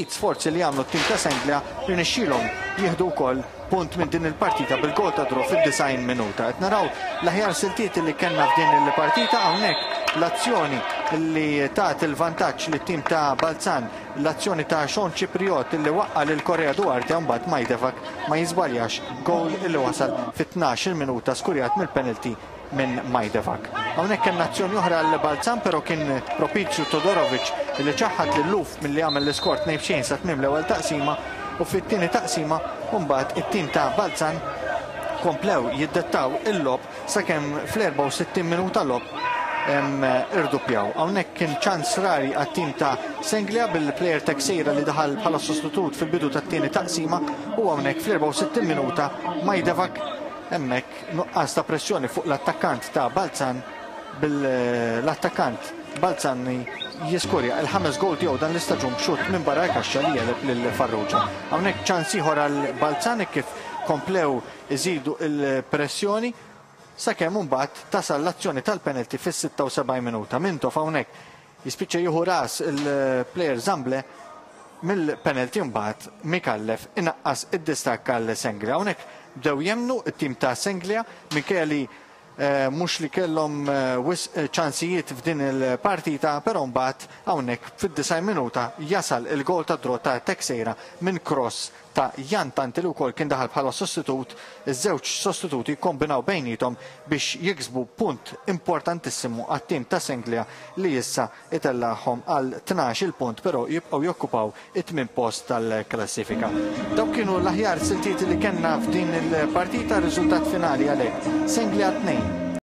Ftit sforzi li għamlu t-tim ta' Senglea rnexxielhom jieħdu wkoll punt minn din il-partita bil-gol ta' draw fid-90 minuta. Qed naraw l-aħjar siltiet li kellna f'din il-partita hawnhekk l-azzjoni li tat il-vantaġġ lit-tim ta' Balzan, l-azzjoni ta' Sean Cipriot li waqqa' lil Correa Duarte u mbagħad Majdevac ma jiżbaljax gowl li wasal fit-12-il minuta skurjat mill-penalty minn Majdevac. Hawnhekk kellna azzjoni oħra għal Balzan però kien propizju Todorovic li ċaħħad lil Luf milli għamel l-iskor 2-0 sa tmiem l-ewwel taqsima u fit-tieni taqsima mbagħad it-tim ta' Balzan komplew jiddettaw il-logħob sakemm fl-64 minuta logħob irduppjaw. Hawnhekk kien ċans rari għat-tim ta' Senglea bil-plejer Teixeira li daħal bħala sostitut fil-bidu tat-tieni taqsima u hawnhekk fl-64 minuta Majdevac hemmhekk Nuqqas ta' pressjoni fuq l-attakkant ta' Balzan bil-attakkant Balzani jiskurja il-ħames goal tiegħu dan l-istaġun b'xutt minn barra l-kaxxa li jegħleb lil Farrugia. Hawnhekk ċans ieħor għal Balzan kif komplew iżidu il-pressjoni sakemm imbagħad tasal l-azzjoni tal-penalty fis-76 minuta. Mintoff hawnhekk Jispiċċa jieħu ras il-plejer Zamble mill-penalty mbagħad Micallef inaqqas id-distakk għal Senglia. Hawnhekk bdew jemmnu t-tim ta' Senglia minkejja li mhux li kellhom wisq ċansijiet f'din il-partita, però mbagħad hawnhekk fid-90 minuta jasal il-goal tad-draw ta' Teixeira minn cross ta' Jan Tanti li wkoll kien daħal bħala sostitut, iż-żewġ sostituti kkombinaw bejniethom biex jiksbu punt importantissimu għat-tim ta' Senglea li issa itellagħhom għal 12-il punt però jibqgħu jokkupaw it-tmien post tal-klassifika. Dawk kienu l-aħjar siltiet li kellna f'din il-partita, riżultat finali għalhekk Senglea 2,